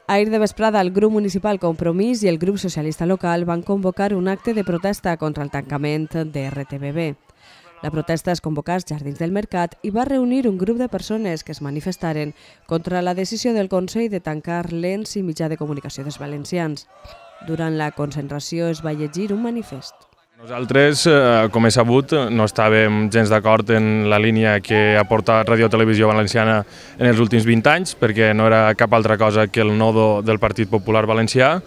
Ahir de vesprada, el grup municipal Compromís i el grup socialista local van convocar un acte de protesta contra el tancament de RTBB. La protesta es convocà als Jardins del Mercat i va reunir un grup de persones que es manifestaren contra la decisió del Consell de tancar l'ENS i mitjà de comunicació dels valencians. Durant la concentració es va llegir un manifest. Nosaltres, com he sabut, no estàvem gens d'acord en la línia que ha portat Radio Televisió Valenciana en els últims 20 anys, perquè no era cap altra cosa que el nodo del Partit Popular Valencià,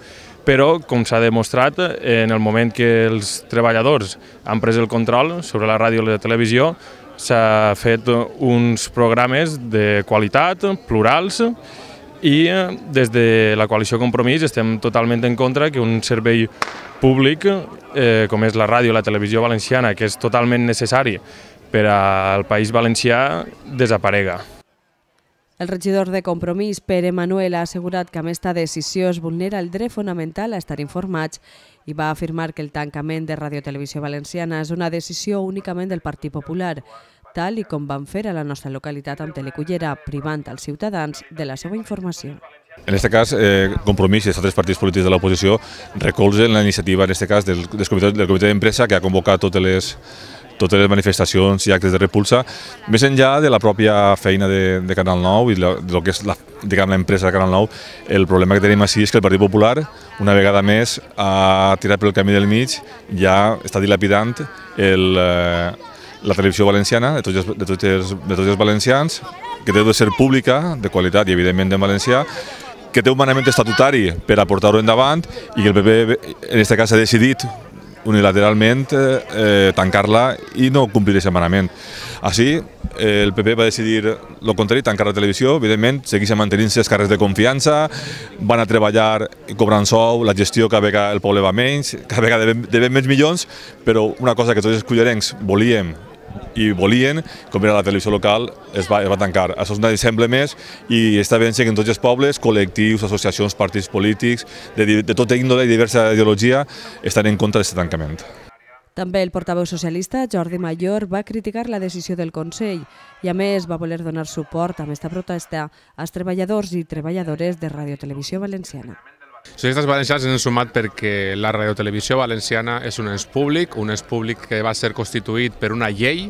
però, com s'ha demostrat, en el moment que els treballadors han pres el control sobre la ràdio i la televisió, s'ha fet uns programes de qualitat, plurals, i des de la coalició Compromís estem totalment en contra que un servei públic com és la ràdio i la televisió valenciana, que és totalment necessari per al País Valencià, desaparega. El regidor de Compromís, Pere Manuel, ha assegurat que amb aquesta decisió es vulnera el dret fonamental a estar informats i va afirmar que el tancament de Radio Televisió Valenciana és una decisió únicament del Partit Popular, tal i com van fer a la nostra localitat amb Telecullera, privant als ciutadans de la seva informació. En aquest cas, Compromís i els altres partits polítics de l'oposició recolzen la iniciativa, en aquest cas, del comitè d'empresa que ha convocat totes les manifestacions i actes de repulsa, més enllà de la pròpia feina de Canal 9 i del que és l'empresa de Canal 9, el problema que tenim així és que el Partit Popular, una vegada més, ha tirat pel camí del mig, ja està dilapidant la televisió valenciana de tots els valencians, que té de ser pública, de qualitat i evidentment en valencià, que té un manament estatutari per a portar-ho endavant i que el PP en aquest cas ha decidit unilateralment tancar-la i no complir aquest manament. Així, el PP va decidir el contrari, tancar la televisió, evidentment, segueixen mantenint-se els càrrecs de confiança, van a treballar cobrant sou, la gestió cada vegada el poble va menys, cada vegada devem menys milions, però una cosa que tots els cullerencs volien, com era la televisió local, es va tancar. Això és un exemple més i està ben que en tots els pobles, col·lectius, associacions, partits polítics, de tota índole i diversa ideologia, estan en contra d'aquest tancament. També el portaveu socialista, Jordi Mayor, va criticar la decisió del Consell i, a més, va voler donar suport a aquesta protesta als treballadors i treballadores de Radio Televisió Valenciana. Els socialistes valencians ens hem sumat perquè la radiotelevisió valenciana és un ens públic que va ser constituït per una llei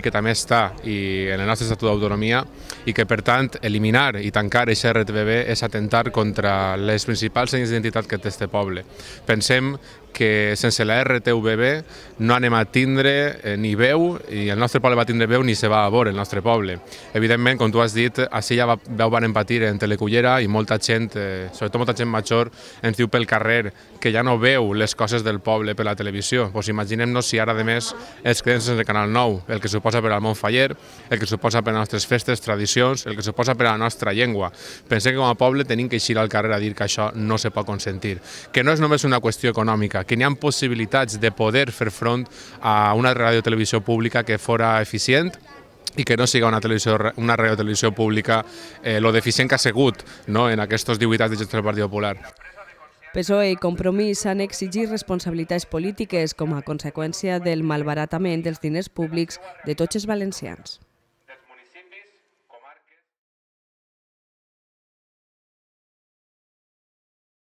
que també està en el nostre Estatut d'Autonomia i que, per tant, eliminar i tancar aquest RTBB és atentar contra les principals senyes d'identitat que té aquest poble. Pensem que sense la RTVB no anem a tindre ni veu, i el nostre poble va tindre veu ni se va a veure el nostre poble. Evidentment, com tu has dit, així ja van patir en Telecullera i molta gent, sobretot molta gent major, ens diu pel carrer que ja no veu les coses del poble per la televisió. Pues imaginem-nos si ara, a més, els quedem sense Canal 9, el que suposa per al món faller, el que suposa per a les nostres festes, tradicions, el que suposa per a la nostra llengua. Pensem que com a poble tenim que eixir al carrer a dir que això no se pot consentir, que no és només una qüestió econòmica, que n'hi ha possibilitats de poder fer front a una radiotelevisió pública que fora eficient i que no siga una radiotelevisió pública lo deficient que ha sigut en aquests 18 anys de gestió del Partit Popular. PSOE i Compromís han exigit responsabilitats polítiques com a conseqüència del malbaratament dels diners públics de tots els valencians.